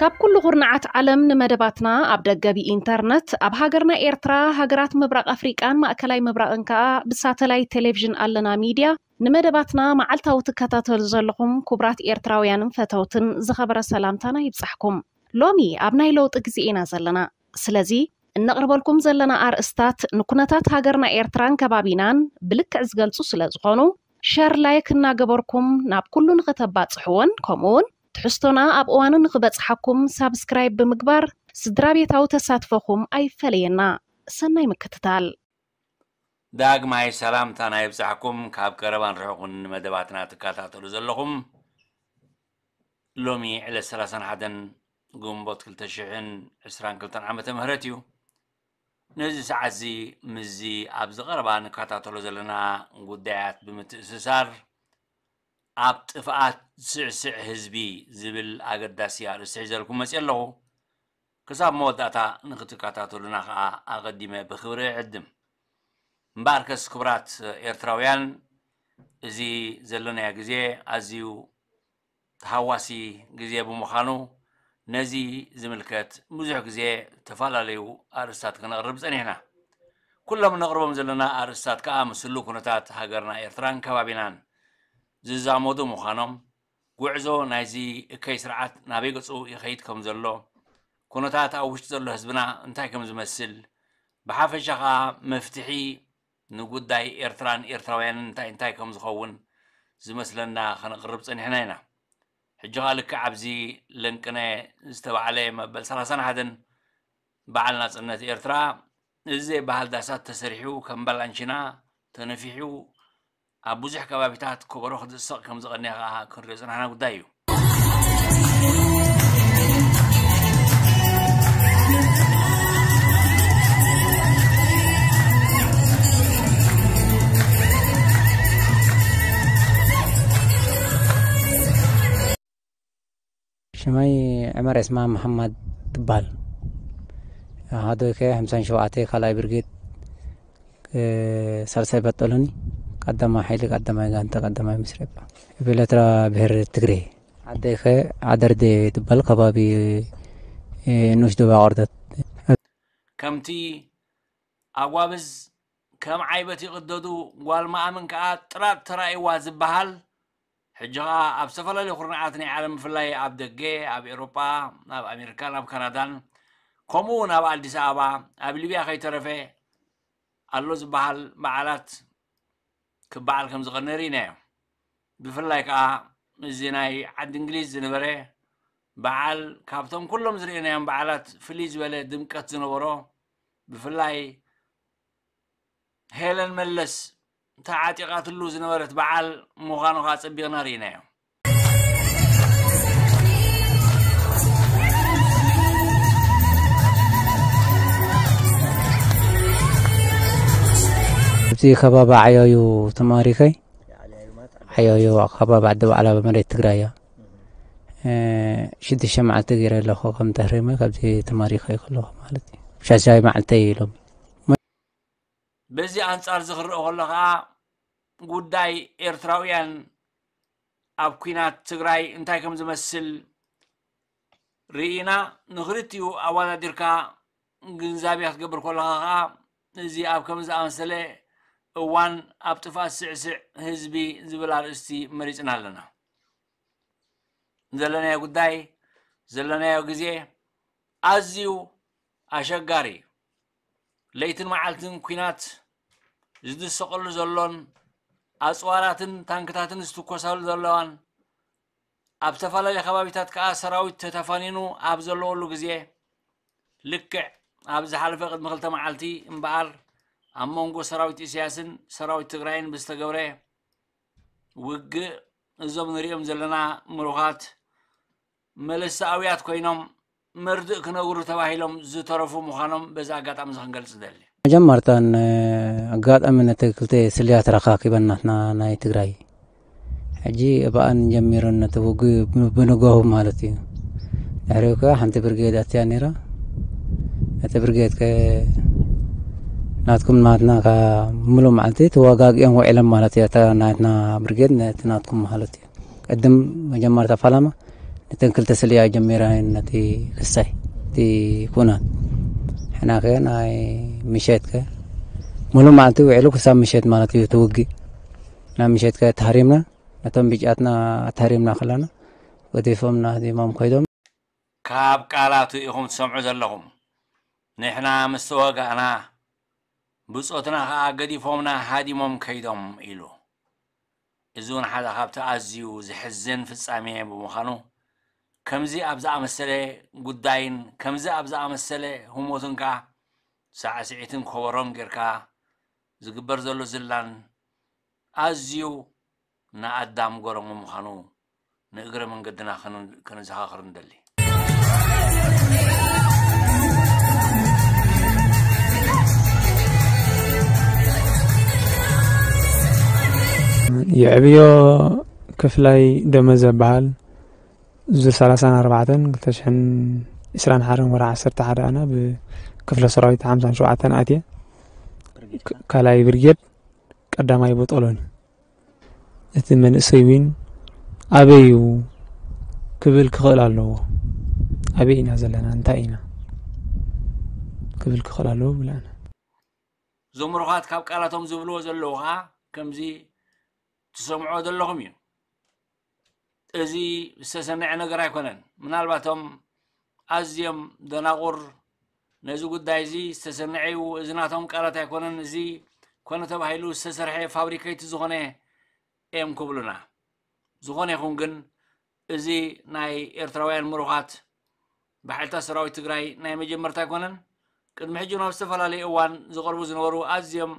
ካብ ኩሉ ኩርናዓት ዓለም ንመደባትና ኣብ ደገ ብኢንተርነት፣ ኣብ ሃገርና ኤርትራ፣ ሃገራት ምብራቕ ኣፍሪቃን ማእከላይ ምብራቕን ከኣ ብሳተላይት ቴሌቪዥን ኣለና ሚድያ ንመደባትና መዓልታዊ ትከታተሉ ዘለኹም ክቡራት ኤርትራውያንን ፈተውትን ዝኸበረ ሰላምታና ይብጻሕኩም። ሎሚ ኣብ ናይ ለውጢ ግዜ ኢና ዘለና። ስለዚ እነቕርበልኩም ዘለና ኣርእስታት ንኩነታት ሃገርና ኤርትራን ከባቢናን ብልክዕ ዝገልጹ ስለ ዝኾኑ፣ ሸር ላይክ እናገበርኩም ናብ ኩሉ ንኽተባጽሕዎን ከምኡውን ትሕዝቶና ኣብ እዋኑ ንኽበጽሓኩም ሳብስክራይብ ብምግባር ስድራ ቤታዊ ተሳትፎኹም ኣይፈለየና። ሰናይ ምክትታል። ዳግማይ ሰላምታና ይብጻሕኩም። ካብ ቀረባን ርሑቕን ንመደባትና ትከታተሉ ዘለኹም፣ ሎሚ ዕለት ሰላሳን ሓደን ግንቦት ክልተ ሽሕን ዕስራን ክልተን ዓመተ ምህረት እዩ። ነዚ ሰዓት እዚ ምስዚ ኣብዚ ቀረባ ንከታተሎ ዘለና ጉዳያት ብምትእስሳር፣ ኣብ ጥፍኣት ዝስዕስዕ ህዝቢ ዝብል ኣገዳሲ ኣርእስቲ ሒዘልኩም መፅእ ኣለኹ። ክሳብ መወዳእታ ንክትከታተሉና ከዓ ኣቐዲመ ብክብሪ እዕድም። እምበኣርከስ ክቡራት ኤርትራውያን፣ እዚ ዘለናዮ ግዜ ኣዝዩ ተሃዋሲ ግዜ ብምዃኑ፣ ነዚ ዝምልከት ብዙሕ ግዜ ዝተፈላለዩ ኣርእስታት ክነቕርብ ጸኒሕና። ኩሎም ነቕርቦም ዘለና ኣርእስታት ከኣ ምስ ህሉው ኩነታት ሃገርና ኤርትራን ከባቢናን ዝዛመዱ ምዃኖም፣ ጉዕዞ ናይዚ እከይ ስርዓት ናበይ ገጹ ይኸይድ ከም ዘሎ፣ ኩነታት ኣብ ውሽጢ ዘሎ ህዝብና እንታይ ከም ዝመስል፣ ብሓፈሻ ከኣ መፍትሒ ንጉዳይ ኤርትራን ኤርትራውያንን እንታይ እንታይ ከም ዝኸውን ዝመስለና ከነቕርብ ጸኒሕና ኢና። ሕጂ ኸኣ ልክዕ ኣብዚ ለንቅነ ዝተባዕለ መበል ሰላሳን ሓደን በዓል ናጽነት ኤርትራ፣ እዚ ዘይበሃል ዳሳት ተሰሪሑ ከም ባላንቺና ተነፊሑ ኣብ ብዙሕ ከባቢታት ከበሮ ክድሰቕ ከም ዝቐነየ ከኣ ክንሪኦ ዝጸናሕና ጉዳይ እዩ። ሽመይ ዕመር ዒስማ መሓማድ ትበሃል። ኣሃዱይ ከ ሓምሳን ሸውዓተ ካልኣይ ብርጌድ፣ እ፣ ሳልሳይ ባጠሎኒ፣ ቀዳማይ ሓይሊ፣ ቀዳማይ ጋንታ፣ ቀዳማይ ምስረባ። ብኤርትራ ብሄር ትግሬ። ዓደይ ከ ዓደርዴ ትበሃል፣ ከባቢ፣ እ፣ ንኡሽ ዶባ ቆርደት። ከምቲ ኣጓብዝ ከም ዓይበት ይቕደዱ፣ ጓል መኣምን ከኣ ጥራጥ ተራእይዋ ዝበሃል፣ ሕጂ ኸኣ ኣብ ዝተፈላለዩ ኩርናዓት ናይ ዓለም፣ ብፍላይ ኣብ ደገ፣ ኣብ ኤውሮጳ፣ ኣብ ኣሜሪካን ኣብ ካናዳን፣ ከምኡ እውን ኣብ ኣዲስ ኣበባ፣ ኣብ ሊብያ ከይተረፈ ኣሎ ዝበሃል በዓላት ክበዓል ከም ዝቐነ ርኢናዮ። ብፍላይ ከኣ እዚ ናይ ዓዲ እንግሊዝ ዝነበረ በዓል፣ ካብቶም ኩሎም ዝርእናዮም በዓላት ፍልይ ዝበለ ድምቀት ዝነበሮ፣ ብፍላይ ሄለን መለስ ተዓጢቓትሉ ዝነበረት በዓል ምዃኑ ከኣ ጸቢቕና ርኢናዮ። ኣብዚ ከባቢ ዓያዩ ተማሪኸ፣ ዓያዩ ከባቢ ዓዲ ባዕላ መሬት ትግራይ እያ። እ፣ ሽዱሽተ መዓልቲ ገይረ ኣለኹ ከም ተህሪመ፣ ካብዚ ተማሪኸ ከለኹ ማለት እዩ። ሻሻይ መዓልተይ ኢሎም። በዚ ኣንጻር እዚ ክረአ ከሎ ከኣ፣ ጉዳይ ኤርትራውያን ኣብ ኲናት ትግራይ እንታይ ከም ዝመስል ርኢና፣ ንኽልቲኡ ኣወዳዲርካ ግንዛቤ ክትገብር ከለኻ ከኣ፣ እዚ ኣብ ከምዚ ዝኣመሰለ እዋን ኣብ ጥፍኣት ስዕስዕ ህዝቢ ዝብል ኣርእስቲ መሪጽና ኣለና። ዘለናዮ ጉዳይ፣ ዘለናዮ ግዜ ኣዝዩ ኣሸጋሪ እዩ። ለይትን መዓልትን ኲናት ዝድሰቐሉ ዘሎን፣ ኣጽዋራትን ታንክታትን ዝትኮሳሉ ዘለዋን፣ ኣብ ዝተፈላለዩ ከባቢታት ከኣ ሰራዊት ተተፋኒኑ ኣብ ዘለወሉ ግዜ፣ ልክዕ ኣብ ዝሓለፈ ቅድሚ ክልተ መዓልቲ እምበኣር፣ ኣብ መንጎ ሰራዊት ኢሳያስን ሰራዊት ትግራይን ብዝተገብረ ውግእ፣ እዞም ንሪኦም ዘለና ምሩኻት መለሰ ኣውያት ኮይኖም መርድእ ክነግሩ ተባሂሎም ዝተረፉ ምዃኖም በዚ ኣጋጣሚ እዚ ክንገልጽ እደሊ። መጀመርታ ን-፣ ኣጋጣሚ ነቲ ክልተ ስልያት ረኻኪበን ናትና ናይ ትግራይ ሕጂ እብኣን ጀሚረን ነቲ ውግእ ብ-፣ ብንጋሁ ማለት እዩ። ድሕሪኡ ከኣ ሓንቲ ብርጌድ ኣትያ ነይራ። ነቲ ብርጌድ ከ ናትኩም ናትና ከ ምሉእ መዓልቲ ተዋጋጊኦም ውዒሎም ማለት እዩ። እታ ናትና ብርጌድ ነቲ ናትኩም ማለት እዩ። ቅድም መጀመርታ ፈላማ ነተን ክልተ ስልያ ጀሚራ ነቲ ክሳይ እቲ ኩናት። ሕና ከ ናይ ምሸት ከ ምሉእ መዓልቲ ውዒሉ ክሳብ ምሸት ማለት እዩ እቲ ውግእ። ናብ ምሸት ከ ተሃሪምና፣ ነቶም ብጫትና ተሃሪምና ከለና ገዲፎምና ህዲሞም ከይዶም። ካብ ቃላቱ ኢኹም ትሰምዑ ዘለኹም። ንሕና ምስ ተዋጋእና ብጾትና ኸኣ ገዲፎምና ሃዲሞም ከይዶም ኢሉ። እዚ እውን ሓደ ካብቲ ኣዝዩ ዘሕዝን ፍጻሜ ብምዃኑ፣ ከምዚ ኣብ ዝኣመሰለ ጉዳይን ከምዚ ኣብ ዝኣመሰለ ህሞትን ከኣ ሳዕስዒትን ኮበሮን ጌርካ ዝግበር ዘሎ ዝላን ኣዝዩ ንኣዳም ገረሙ ምዃኑ ንእግረ መንገድና ከን-፣ ከነዘኻኽር ንደሊ። የዕብዮ ክፍላይ ደመዘ በሃል፣ እዚ ሰላሳን ኣርባዕተን ክልተ ሽሕን ዕስራን ሓደን ወርሒ ዓሰርተ ሓደ ኣነ ብክፍለ ሰራዊት ሓምሳን ሸውዓተን ኣትየ። ክ-፣ ካልኣይ ብርጌድ ቀዳማይ ቦጦሎኒ። እቲ መንእሰይ እውን ኣበይ እዩ ክብል ክኽእል ኣለዎ። ኣበይ ኢና ዘለና? እንታይ ኢና ክብል ክኽእል ኣለዎ ብለና። እዞም ምሩኻት ካብ ቃላቶም ዝብልዎ ዘለዉ ኸዓ ከምዚ ትሰምዖ ዘለኹም እዩ። እዚ ዝተሰነዐ ነገር ኣይኮነን። ምናልባቶም ኣዝዮም ደናቑር ነዚ ጉዳይ እዚ ዝተሰነዐ እዩ፣ እዚ ናቶም ቃላት ኣይኮነን፣ እዚ ኮነ ተባሂሉ ዝተሰርሐ ፋብሪኬት ዝኾነ እዮም ክብሉና። ዝኾነ ይኹን ግን፣ እዚ ናይ ኤርትራውያን ምሩኻት ብሓይልታት ሰራዊት ትግራይ ናይ መጀመርታ ኣይኮነን። ቅድሚ ሕጂ ናብ ዝተፈላለዩ እዋን ዝቐርቡ ዝነበሩ ኣዝዮም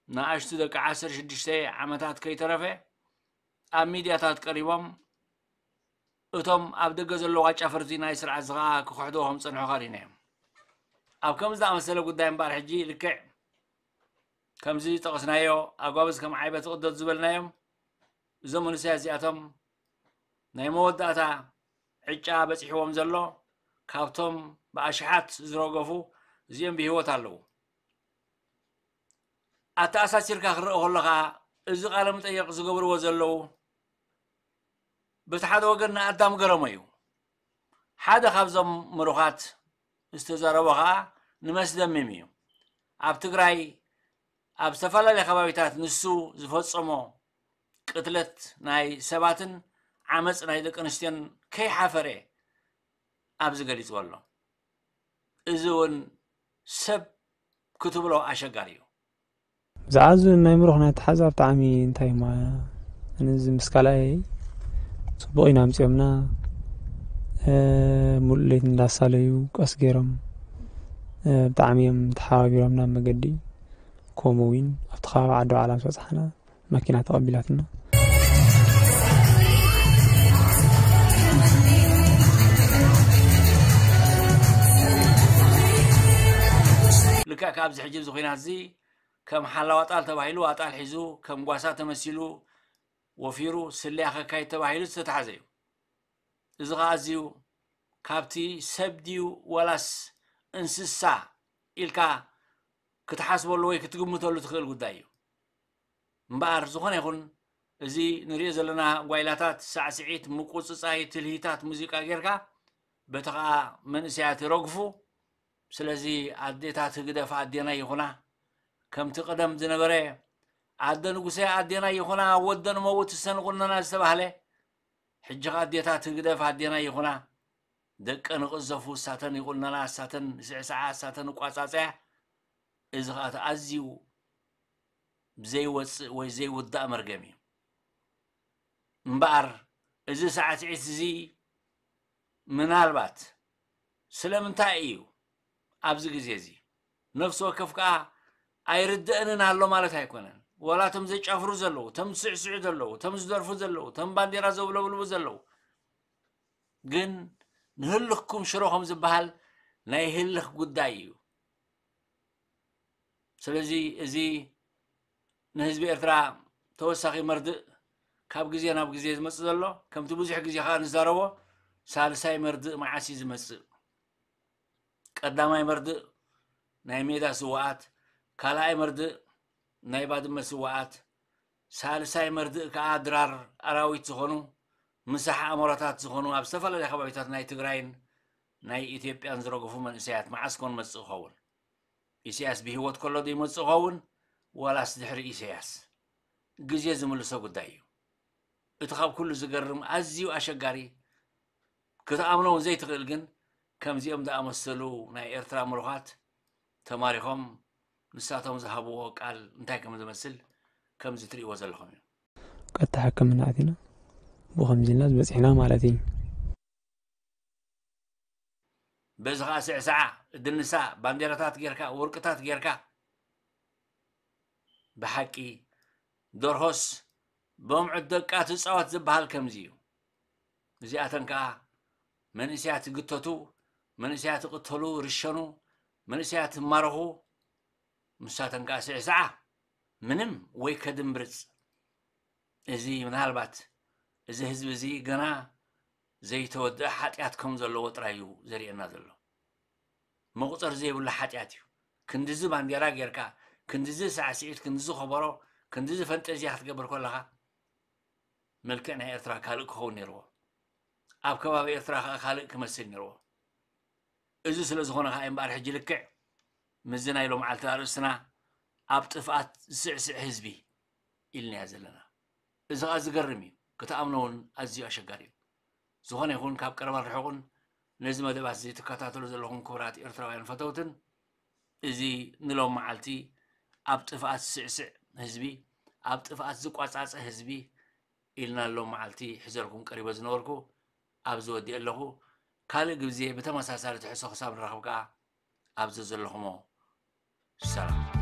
ንኣሽቱ ደቂ ዓሰርተ ሽዱሽተ ዓመታት ከይተረፈ ኣብ ሚድያታት ቀሪቦም፣ እቶም ኣብ ደገ ዘለዉ ኣጫፈርቲ ናይ ስርዓት እዚ ኸዓ ክኽሕድዎ ከም ዝጸንሑ ኸሪና እዮም። ኣብ ከምዚ ዝኣመሰለ ጉዳይ እምበኣር ሕጂ ልክዕ ከምዚ ዝጠቐስናዮ ኣጓብዝ ከም ዓይበ ትቕደድ ዝበልናዮም፣ እዞም መንእሰያት እዚኣቶም ናይ መወዳእታ ዕጫ በጺሕዎም ዘሎ፣ ካብቶም ብኣሽሓት ዝረገፉ እዚኦም ብህይወት ኣለዉ። ኣተኣሳሲርካ ክረአ ከሎ ኸዓ፣ እዚ ቃለ መጠየቕ ዝገብርዎ ዘለዉ፣ በቲ ሓደ ወገን ንኣዳም ገረሞ እዩ። ሓደ ካብዞም ምሩኻት ዝተዛረቦ ኸዓ ንመስደምም እዩ። ኣብ ትግራይ፣ ኣብ ዝተፈላለየ ከባቢታት ንሱ ዝፈጸሞ ቅትለት ናይ ሰባትን ዓመፅ ናይ ደቂ ኣንስትዮን ከይሓፈረ ኣብዚ ገሊጽዎ ኣሎ። እዚ እውን ሰብ ክትብሎ ኣሸጋሪ እዩ። ዝዓዙ ናይ ምሩኽ ናይ ተሓዛ ብጣዕሚ እንታይ እማ፣ ኣነ እዚ ምስ ካልኣይ ጽቡቕ ኢና ኣምጺኦምና፣ እ፣ ሙሉእ ለይቲ እንዳሳለዩ ቀስ ገይሮም፣ እ፣ ብጣዕሚ እዮም ተሓባቢሮምና ኣብ መገዲ። ከምኡ እውን ኣብቲ ከባቢ ዓዲ ባዕላ ምስ በጻሕና መኪና ተቐቢላትና። ልክዕ ካብዚ ሕጂ ኣብዚ ኲናት እዚ ከም ሓላው ኣጣል ተባሂሉ ኣጣል ሒዙ ከም ጓሳ ተመሲሉ ወፊሩ ስልያ ከካይድ ተባሂሉ ዝተታሕዘ እዩ። እዚ ኸዓ ኣዝዩ ካብቲ ሰብ ድዩ ዋላስ እንስሳ ኢልካ ክትሓስበሉ ወይ ክትግምተሉ ትኽእል ጉዳይ እዩ። እምበኣር ዝኾነ ይኹን እዚ ንሪኦ ዘለና ጓይላታት፣ ሳዕስዒት፣ ምቁጽጻይ፣ ትልሂታት ሙዚቃ ጌርካ በቲ ኸዓ መንእሰያት ይረግፉ። ስለዚ ኣዴታት ህግደፍ ኣዴና ይኹና፣ ከምቲ ቀደም ዝነበረ ኣደ ንጉሰ ኣዴና ይኹና፣ ወደን መውት ሰንቑነና ዝተባህለ፣ ሕጂ ኸዓ ኣዴታት ህግደፍ ኣዴና ይኹና፣ ደቀን ይቕዘፉ፣ እሳተን ይቑነና፣ እሳተን ይስዕስዓ፣ እሳተን ይቋጻጸያ። እዚ ኸዓ እቲ ኣዝዩ ዘይወጽእ ወይ ዘይውዳእ መርገም እዩ። እምበኣር እዚ ሳዕስዒት እዚ ምናልባት ስለምንታይ እዩ ኣብዚ ግዜ እዚ ነፍሲ ወከፍ ከኣ ኣይርድአንን ኣሎ ማለት ኣይኮነን። ወላ እቶም ዘጫፍሩ ዘለዉ፣ እቶም ዝስዕስዑ ዘለዉ፣ እቶም ዝደርፉ ዘለዉ፣ እቶም ባንዴራ ዘውለብልቡ ዘለዉ፣ ግን ንህልኽኩም ሽሮ ከም ዝበሃል ናይ ህልኽ ጉዳይ እዩ። ስለዚ እዚ ንህዝቢ ኤርትራ ተወሳኺ መርድእ ካብ ግዜ ናብ ግዜ ዝመጽእ ዘሎ፣ ከምቲ ብዙሕ ግዜ ከኣ ንዛረቦ፣ ሳልሳይ መርድእ መዓስ እዩ ዝመጽእ? ቀዳማይ መርድእ ናይ ሜዳ ስውኣት፣ ካልኣይ መርድእ ናይ ባድመ ስውኣት፣ ሳልሳይ መርድእ ከኣ ድራር ኣራዊት ዝኾኑ፣ ምሳሕ ኣሞራታት ዝኾኑ ኣብ ዝተፈላለያ ከባቢታት ናይ ትግራይን ናይ ኢትዮጵያን ዝረገፉ መንእሰያት መዓስ ኮን መጽእ ይኸውን? ኢሳያስ ብህይወት ከሎ ዶ ይመጽእ ይኸውን? ዋላስ ድሕሪ ኢሳያስ? ግዜ ዝምልሶ ጉዳይ እዩ። እቲ ካብ ኩሉ ዝገርም ኣዝዩ ኣሸጋሪ ክትኣምኖ እውን ዘይትኽእል ግን ከምዚኦም ዝኣመሰሉ ናይ ኤርትራ ምሩኻት ተማሪኾም ንሳቶም ዝሃብዎ ቃል እንታይ ከም ዝመስል ከምዚ ትርእይዎ ዘለኹም እዩ። ቀጥታ ሕክምና ኣቲና ብኸምዚ ኢልና ዝበፂሕና ማለት እዩ። በዚ ኸዓ ስዕስዓ፣ እድንሳ፣ ባንዴራታት ጌርካ፣ ወርቅታት ጌርካ፣ ብሓቂ ደርሆስ በምዑት ደቃ ትፃወት ዝበሃል ከምዚ እዩ። እዚኣተን ከዓ መንእሰያት ይግተቱ፣ መንእሰያት ይቕተሉ፣ ይርሸኑ፣ መንእሰያት ይማረኹ። ንሳተን ከዓ ስዕስዓ ምንም ወይ ከድምብርፅ። እዚ ምናልባት እዚ ህዝቢ እዚ ገና ዘይተወድአ ሓጢኣት ከም ዘለዎ ጥራይ እዩ ዘርእየና ዘሎ። መቑፀር ዘይብሉ ሓጢኣት እዩ። ክንድዚ ባንዴራ ጌርካ፣ ክንድዚ ሳዕስዒት፣ ክንድዚ ከበሮ፣ ክንድዚ ፈንጠዝያ ክትገብር ከለኻ መልክዕ ናይ ኤርትራ ካልእ ክኸውን ነይርዎ። ኣብ ከባቢ ኤርትራ ከዓ ካልእ ክመስል ነይርዎ። እዚ ስለ ዝኾነ ከዓ እምበኣር ሕጂ ልክዕ ምስዚ ናይ ሎምዓልቲ ኣርእስትና ኣብ ጥፍኣት ዝስዕስዕ ህዝቢ ኢልናዮ ዘለና። እዚ ከዓ ዝገርም እዩ፣ ክትኣምኖ እውን ኣዝዩ ኣሸጋሪ እዩ። ዝኾነ ይኹን ካብ ቀረባን ርሑቕን ነዚ መደባት እዚ ትከታተሉ ዘለኹም ክቡራት ኤርትራውያን ፈተውትን፣ እዚ ንሎም መዓልቲ ኣብ ጥፍኣት ዝስዕስዕ ህዝቢ፣ ኣብ ጥፍኣት ዝቋጻጸ ህዝቢ ኢልና ሎም መዓልቲ ሒዘልኩም ቀሪበ ዝነበርኩ ኣብዚ ወዲእ ኣለኹ። ካልእ ግዜ ብተመሳሳሊ ትሕዝቶ ክሳብ ንራኸብ ከኣ ኣብዚ ዘለኹሞ ሰላም።